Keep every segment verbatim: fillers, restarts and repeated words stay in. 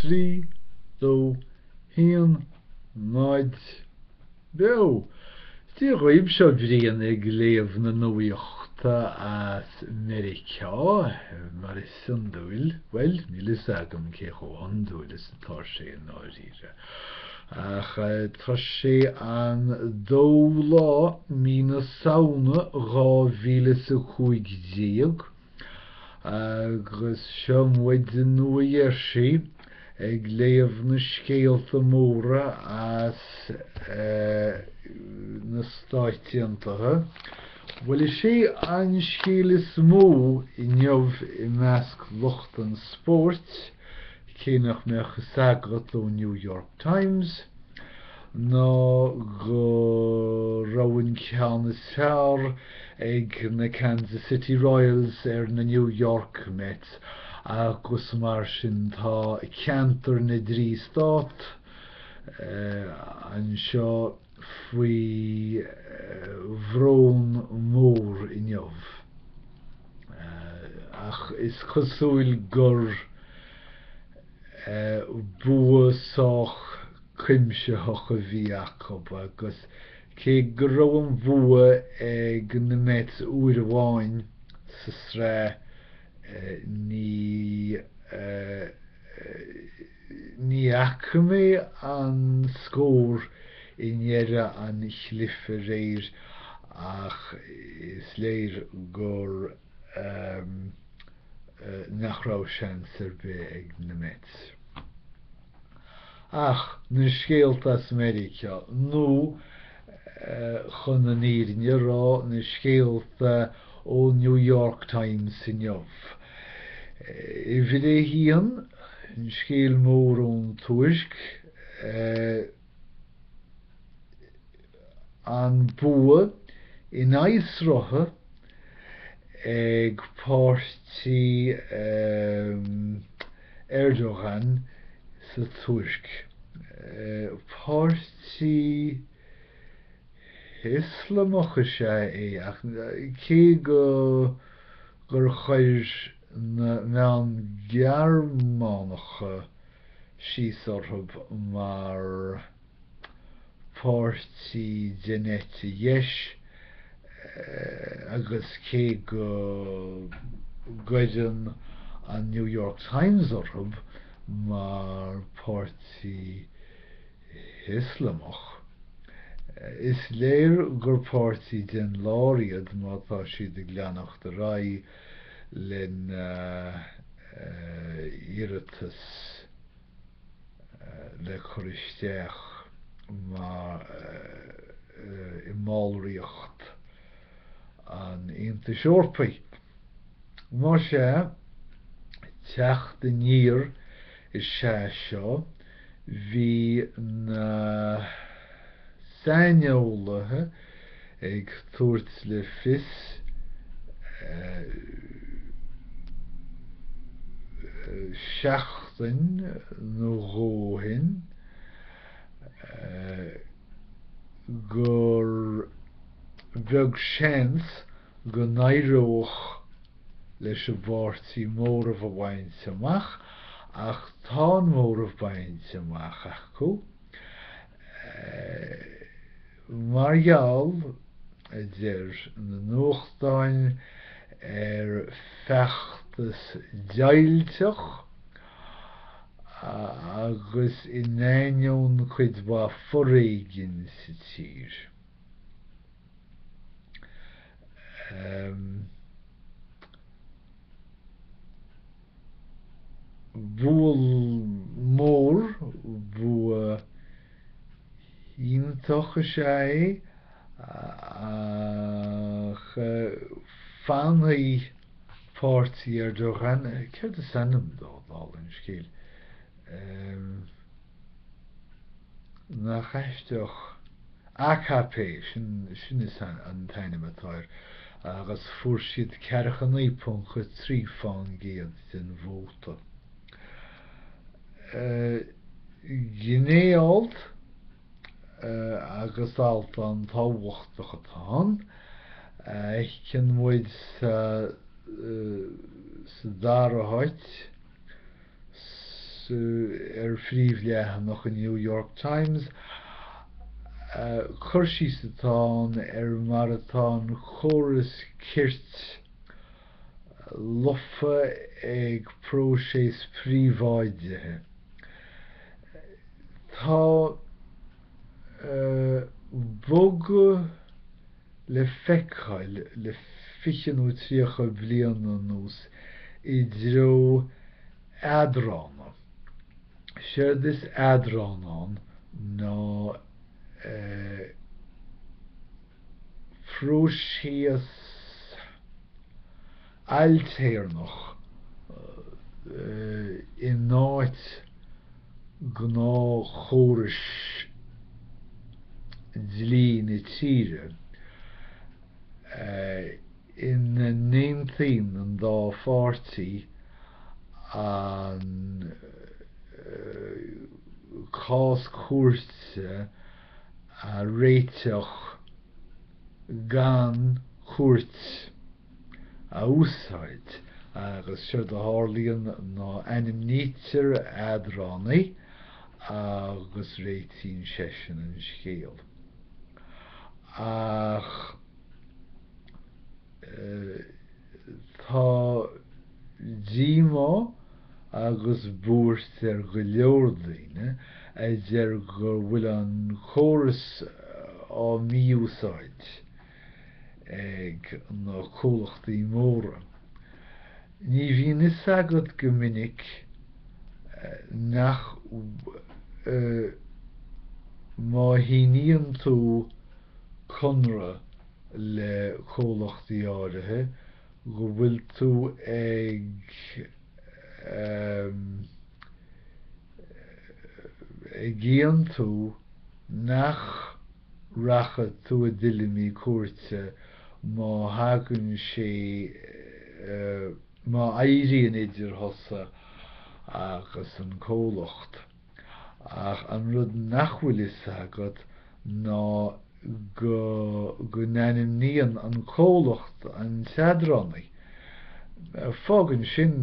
Trí, dó, haon, náid, beo! Dia dhaoibh, seo Brian ag léamh na nuachta as Meiriceá, mar is iondúil. Bhuel, níl fhios agam cé chomh hiondúil is atá sé i ndáiríre. Ach tá sé an dóú lá mí na Samhna dhá mhíle is a cúig déag agus seo muid i Nua Gheirsí ag léamh na scéalta móra as na Stáit Aontaithe. Bhuel, is é an scéal is mó inniu i measc lucht an spóirt, cé nach mbeadh fhios agat ón New York Times, ná go raibh an ceann is fearr ag na Kansas City Royals ar na New York Mets agus mar sin tá ceantar na dtrí stát anseo faoi bhrón mór inniu. Ach is cosúil gur bua sách cuimsitheach a bhí acu agus cé go raibh an bua ag na Mets uair amháin sa sraith ní ní fhaca mé an scór i ndeireadh an chluiche aréir ach is léir gur nach raibh seans ar bith ag na Mets. Ach na scéalta as Meiriceá nó chun an fhírinne a rá na scéalta ó New York Times inniu. Uimhir a haon, an scéal mór ón Tuirc, an bua in aghaidh srutha ag páirtí Erdogan sa Tuirc. Páirtí Ioslamach is ea é ach cé go gur chuir na meáin Ghearmánacha síos orthu mar pháirtí den eite dheis agus cé go gcuireann an New York Times orthu mar pháirtí Ioslamach, is léir gur páirtí den lár iad má tá siad ag leanacht ar aghaidh lena iarratas le cur isteach mar i mballraíocht an Aontais Eorpaigh. Más ea, teacht aniar is ea seo, bhí na saineolaithe ag tabhairt le fios seachtain nó dhó ó shin gur bheag seans go n-éireodh leis an bpáirtí móramh a bhaint amach ach tá an móramh bainte amach acu mar gheall, a deir na nuachtáin, ar feachtas deighilteach agus in ainneoin cuid mhaith foréigin sa tír. Bua mór, bua iontach is ea é ach fanfaidh páirtí Erdogan, céard is ainm dó, dála an scéil? Nach aisteach AKP, sin sin is an t-ainm atá air, agus fuair siad ceathracha naoi ponc a trí fán gcéad den vóta. Gné-alt agus alt an-tábhachtach atá ann, a fheiceann muid sa sa dara háit, ar phríomhleathanach an New York Times. Cur síos atá ann ar mar atá an córas cirt lofa ag próiseas príobháidithe. Tá bogadh le feiceáil le fiche nó tríocha bliain anuas i dtreo eadrána. Séard is eadrán ann ná próiseas ailtéarnach in áit gnáthchórais dlí na tíre ina n-aontaíonn an dá pháirtí an cás cúirte a réiteach gan cúirt a úsáid agus séard a tharlaíonn ná ainmnítear eadránaí agus réitíonn seisean an scéal. Ach tá díomá agus buairt ar go leor daoine a deir go bhfuil an córas á mí-úsáid ag na comhlachtaí móra. Ní bhíonn fhios agat go minic nach má shíníonn tú conradh le comhlachtaí áirithe go bhfuil tú ag ag aontú nach rachaidh tú i dtuilleamaí cúirte má thagann sé má éiríonn idir thusa agus an comhlacht. Ach an rud nach bhfuil fhios agat ná go go n-ainmníonn an comhlacht an t-eadránaí. Fágann sin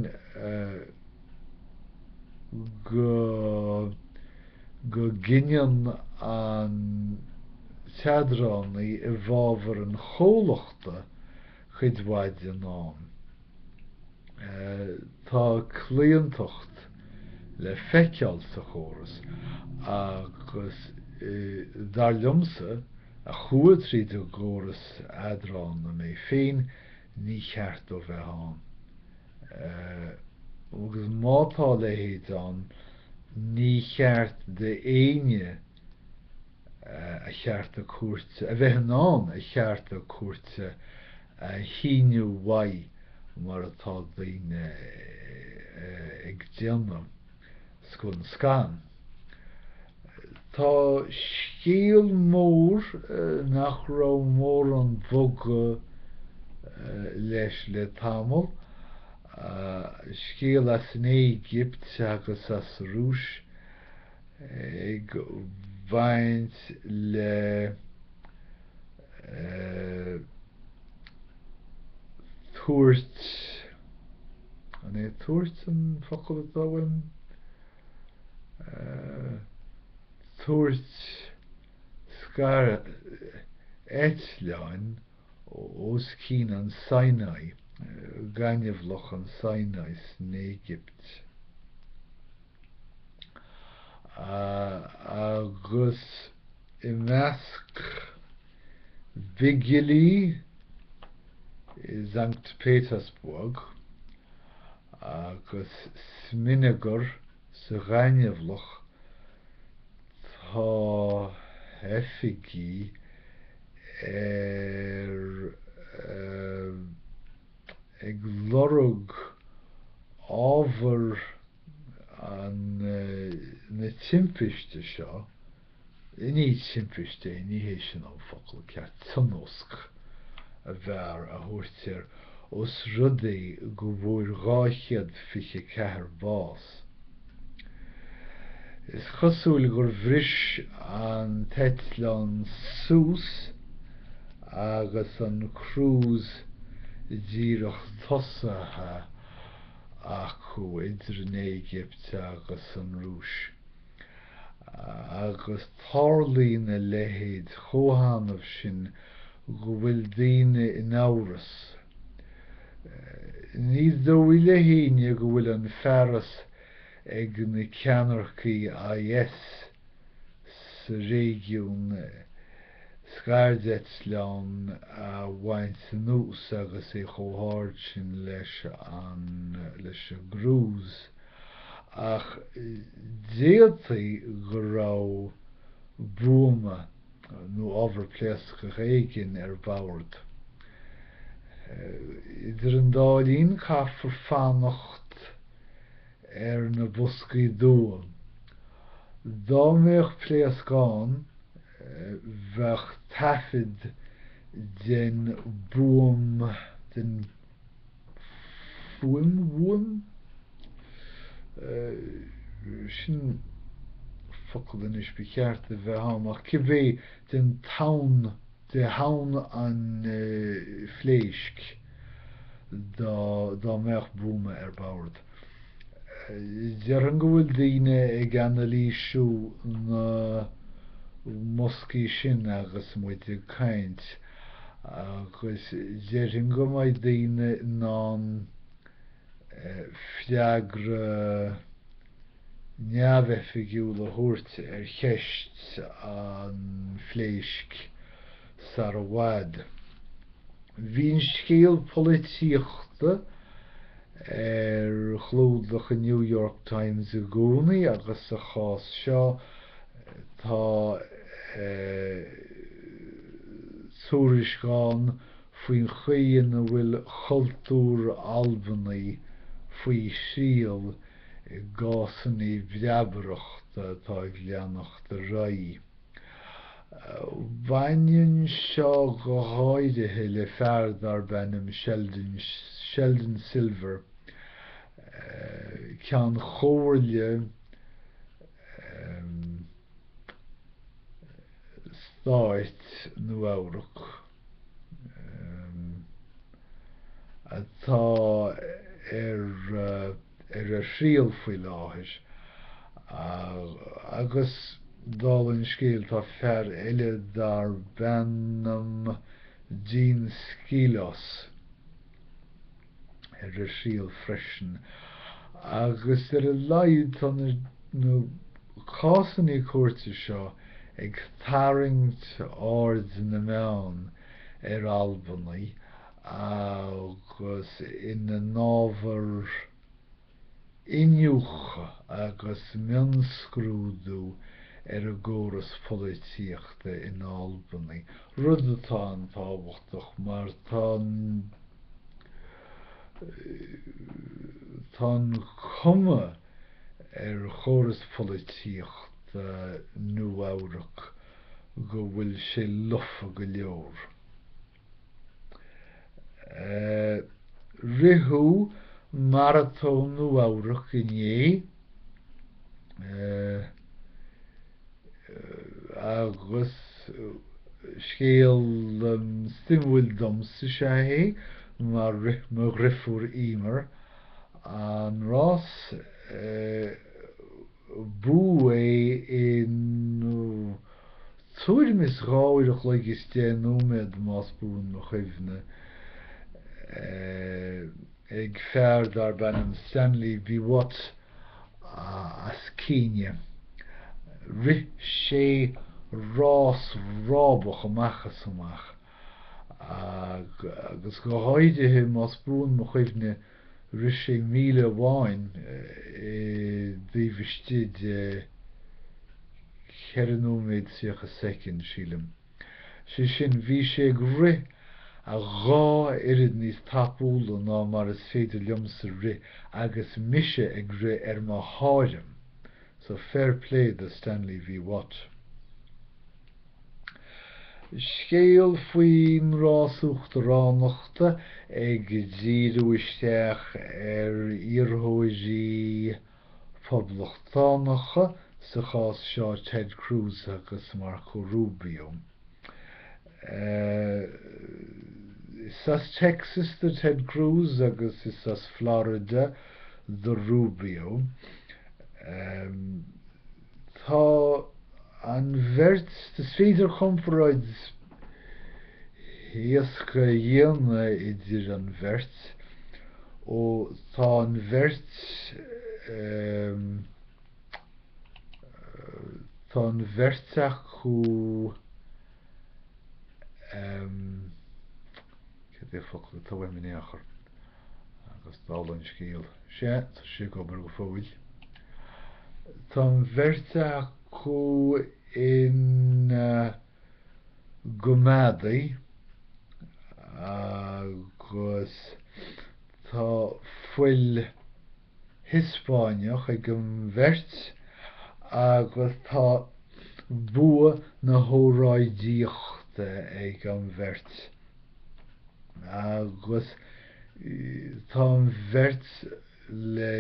go go gcinneann an t-eadránaí i bhfabhar an chomhlachta cuid mhaith den am. Tá claontacht le feiceáil sa chóras agus dar liomsa a chuaigh tríd an gcóras eadrána mé féin, ní cheart dó bheith ann. Agus má tá a leithéid ann, ní cheart d'éinne a chearta cúirte, a bheith in ann a chearta cúirte a shíneadh uaidh mar atá daoine ag déanamh scun scan. Tá scéal mór nach raibh mórán bogadh leis le tamall, scéal as an Éigipt agus as an Rúis ag baint le tabhairt, an é tabhairt an focal atá uaim? Tabhairt scair eitleáin os cionn an Sinai, gaineamhlach an Sinai san Éigipt. Agus i measc bigilí i Sankt Petersburg agus smionagar sa ghaineamhlach tá oifigí ar ag lorg ábhar an na timpiste seo, ní timpiste é, ní hé sin an focal ceart, tionóisc a b'fhearr a thabhairt air, os rud é go bhfuair dhá chéad fiche ceathair bás. Is cosúil gur bhris an t-eitleán suas agus an cruise díreach tosaithe acu idir an Éigipt agus an Rúis. Agus tarlaíonn a leithéid chomh hannamh sin go bhfuil daoine in amhras. Ní dóigh le héinne go bhfuil an fearas ag na ceannaircigh I S sa réigiún scairdeitleán a bhaint anuas agus é chomh hard sin leis an leis an gCruise, ach d'fhéadfaí go raibh buama nó ábhar pléascach éigin ar bord. Idir an dá linn, caithfear fanacht ar na boscaí dubha. Dá mbeadh pléasc ann, bheadh taifead den buam den fuaim bhuaim sin focal anois ba cheart a bheith ann, ach cibé, den tonn de thonn an phléisc dá dá mbeadh buama ar bord. Déarfainn go bhfuil daoine ag anailísiú na mboscaí sin agus muid ag caint, agus déarfainn go mbeidh daoine in ann freagra neamhoifigiúil a thabhairt ar cheist an phléisc sar i bhfad. Bhí an scéal polaitíochta ar chlúdach an New York Times i gcónaí, agus sa chás seo tá tuairisc ann faoin chaoi ina bhfuil cultúr Albanaigh faoi thriail i gcásanna breabaireachta atá ag leanacht ar aghaidh. Baineann seo go háirithe le fear darb ainm Sheldon, Sheldon Silver, Ceann Chomhairle Stáit Nua-Eabhrac, atá ar ar a thriail faoi láthair, agus dála an scéil tá fear eile darb ainm Dean Skelos ar a thriail freisin, agus ar a laghad tá na cásanna cúirte seo ag tarraingt aird na meán ar Albanaigh agus ina n-ábhar iniúchadh agus mionscrúdú ar an gcóras polaitíochta in Albanaigh, rud atá an-tábhachtach mar tá tá an chuma ar chóras polaitíochta Nua-Eabhrac go bhfuil sé lofa go leor. Ritheadh Maratón Nua-Eabhrac inné agus scéal suimiúil domsa is ea é mar rith mo dhriofúr Emer an rás. Buadh é in tuairim is dhá uair a chloig is deich nóiméad, más buan mo chuimhne, ag fear darb ainm Stanley Biwott as Céinia. Rith sé rás rábach amach is amach, agus go háirithe, más buan mo chuimhne, rith sé míle amháin i dtaobh istigh de cheithre nóiméad tríocha soicind, sílim. Sé sin, bhí sé ag rith a dhá oiread níos tapúla ná mar is féidir liomsa rith agus mise ag rith ar mo thairm. So fair play do Stanley Biwott. Scéal faoin rás uachtaránachta ag díriú isteach ar iarrthóirí poblachtánacha, sa chás seo Ted Cruz agus Marco Rubio. Is as Texas do Ted Cruz agus is as Florida do Rubio. Tá an bheirt, is féidir comparáid éasca a dhéanamh idir an bheirt, ó tá an bheirt tá an bheirt acu cad é an focal atá uaim in aon chor agus dála an scéil, sea, tá sé ag obair go fóill. Tá an bheirt acu ina gcoimeádaigh agus tá fuil Hispáineach ag an bheirt agus tá bua na hóráidíochta ag an bheirt agus tá an bheirt le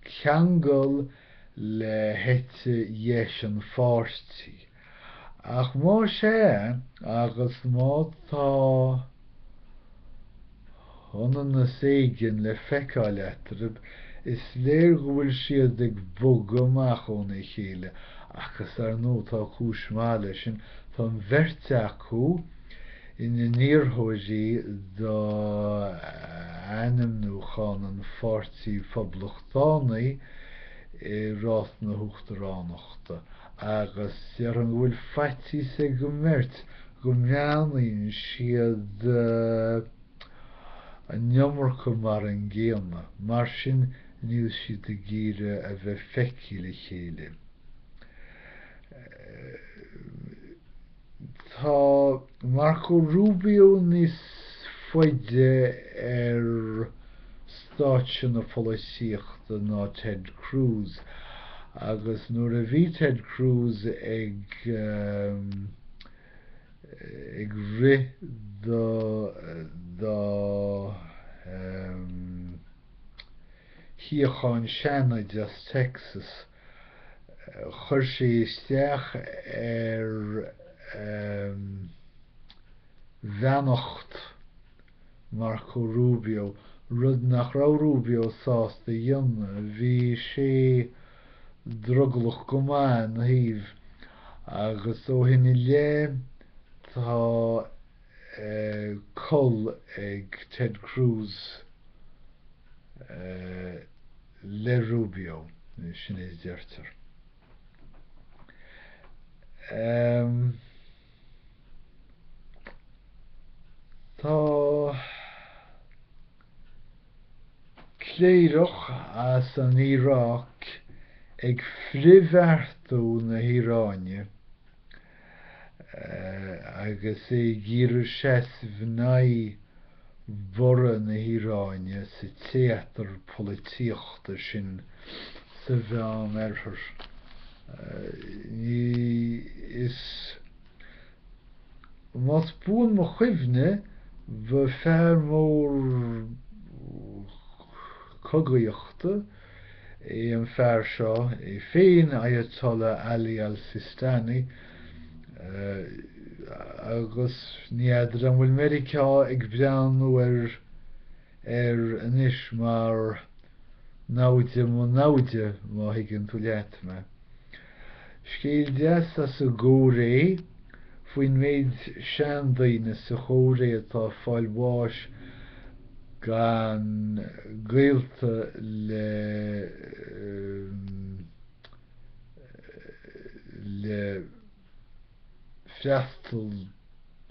ceangal le heite dheis an pháirtí. Ach más ea, agus má tá ionannas éigin le feiceáil eatarthu, is léir go bhfuil siad ag bogadh amach óna chéile, agus ar ndóigh tá cúis mhaith leis sin, tá an bheirt acu ina n-iarrthóirí d'ainmniúchán an Pháirtí Phoblachtánaigh i rás na huachtaránachta, agus déarfainn go bhfuil faitíos ag an mbeirt go mbreathnaíonn siad an iomarca mar an gcéanna, mar sin níl siad ag iarraidh a bheith feicthe le chéile. Tá Marco Rubio níos faide ar stáitse na polaitíochta ná Ted Cruz, agus nuair a bhí Ted Cruz ag ag rith do do shuíochán Seanaid as Texas, chuir sé isteach ar bheannacht Marco Rubio, rud nach raibh Rubio sásta a dhéanamh. Bhí sé drogallach go maith ina thaobh, agus ó shin i leith tá col ag Ted Cruz le Rubio, sin é a deirtear. Tá cléireach as an Iaráic ag frithbheartú na hIaráine agus é ag iarraidh seasamh in aghaidh borradh na hIaráine sa téatar polaitíochta sin sa Mheánoirthear. Ní is más buan mo chuimhne, ba fear mór cogaíochta é an fear seo é féin, Ayatollah Ali al-Sistani, agus ní fheadar an bhfuil Meiriceá ag breathnú ar air anois mar namhaid mo namhaide, má thuigeann tú leat mé. Scéal deas as an gCóiré faoin méid seandaoine sa Chóiré atá ag fáil bháis gan gaolta le le freastal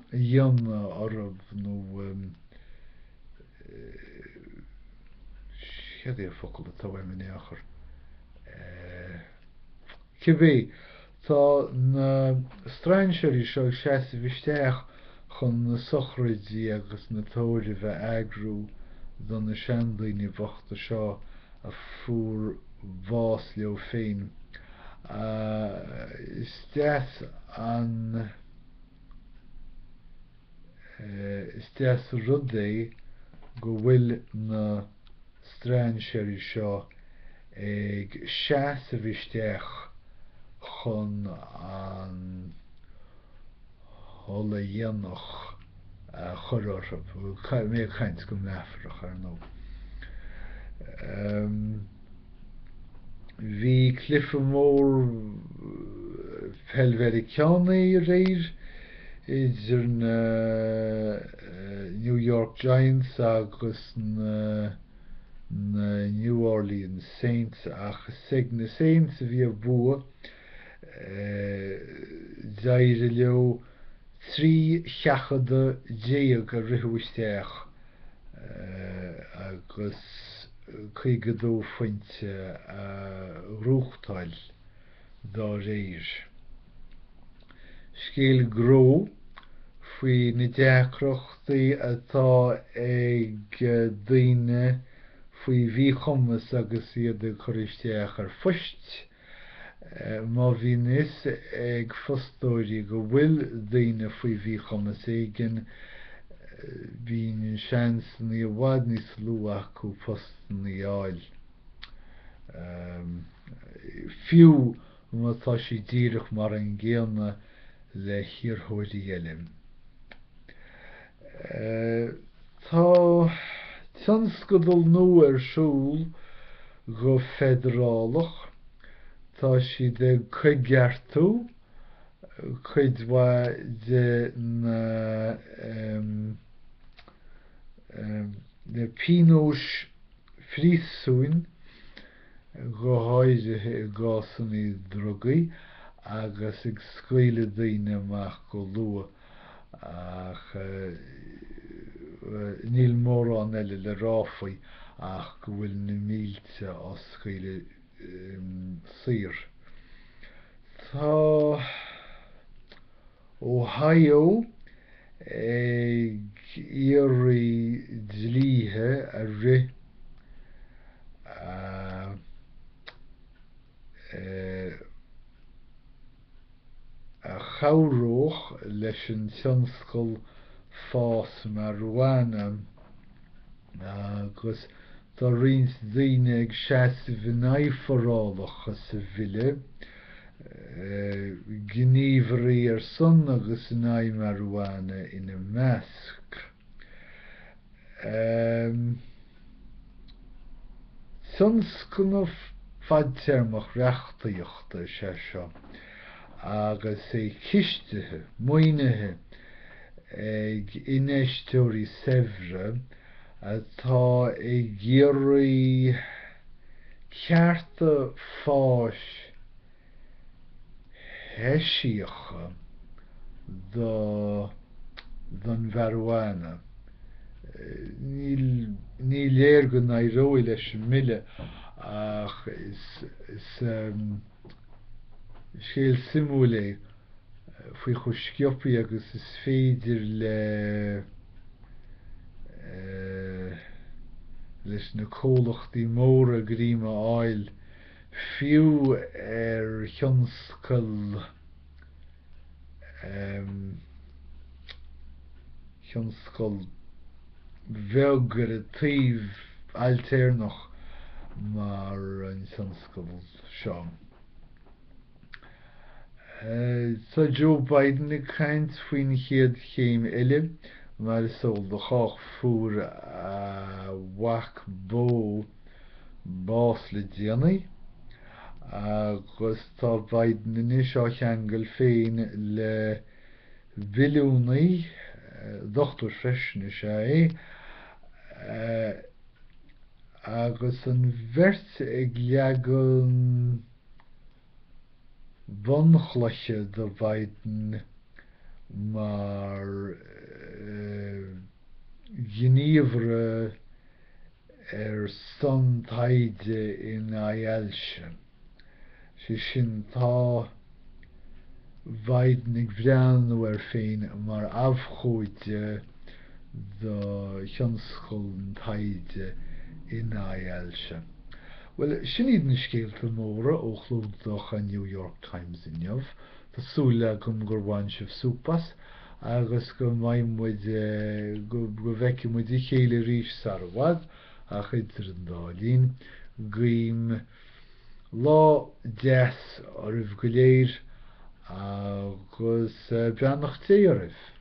a dhéanamh orthu nó céard é an focal atá uaim in aon chor? Cibé, tá na strainséirí seo ag seasamh isteach chun na sochraidí agus na tórraimh a eagrú do na seandaoine bochta seo a fuair bás leo féin. Is deas an is deas rud é go bhfuil na strainséirí seo ag seasamh isteach chun an ola dhéanach a chur orthu. Mé ag caint go meafarach, ar ndóigh. Bhí cluiche mór peil Mheiriceánaí aréir idir na New York Giants agus na na New Orleans Saints ach is ag na Saints a bhí an bua d'éirigh leo trí sheachadadh déag a ritheadh isteach agus caoga dó phointe a ghnóthachtáil dá réir. Scéal gnó faoi na deacrachtaí atá ag daoine faoi mhíchumas agus iad ag cur isteach ar phoist. Má bhíonn fhios ag fostóirí go bhfuil daoine faoi mhíchumas éigin, bíonn seansanna i bhfad níos lú acu postanna a fháil. Fiú má tá sé díreach mar an gcéanna le hiarrthóirí eile. Tá tionscadal nua ar siúl go feidearálach. Tá siad ag coigeartú cuid mhaith de na na pionóis phríosúin, go háirithe i gcásanna drugaí agus ag scaoileadh daoine amach go luath ach níl mórán eile le rá faoi ach go bhfuil na mílte á scaoileadh saor. Tá Ohio ag iarraidh dlíthe a rith a chabhródh leis an tionscal fás marijuana agus tá roinnt daoine ag seasamh in aghaidh forálacha sa bhille, gníomhairí ar son agus in aghaidh marijuana ina measc. Tionscnamh fadtéarmach reachtaíochta is ea seo agus é cistithe, maoinithe ag infheisteoirí saibhre atá ag iarraidh cearta fáis eisiacha do don mharijuana. Ní, ní léir go n-éireoidh leis an mbille ach is, is um, scéal suimiúil é faoi chomh sciobtha agus is féidir le leis na comhlachtaí móra greim a fháil fiú ar thionscal thionscal bheag ar an taobh ailtéarnach mar an tionscal seo. Tá Joe Biden ag caint faoin chéad chéim eile, mar is eol do chách fuair a mhac Beau bás le déanaí agus tá Biden anois á cheangal féin le billiúnaí, dochtúir freisin is ea é, agus an bheirt ag leagan bunchloiche do Biden mar ghníomhaire ar son taighde in aghaidh ailse. Sé sin, tá Biden ag breathnú air féin mar abhcóide do thionscal an taighde in aghaidh ailse. Bhuel, sin iad na scéalta móra ó chlúdach an New York Times inniu. Tá súil agam gur bhain sibh súp as agus go mbeidh muid, go bhfeicfidh muid a chéile arís sar i bhfad, ach idir an dá linn, guím lá deas oraibh go léir agus beannacht Dé oraibh.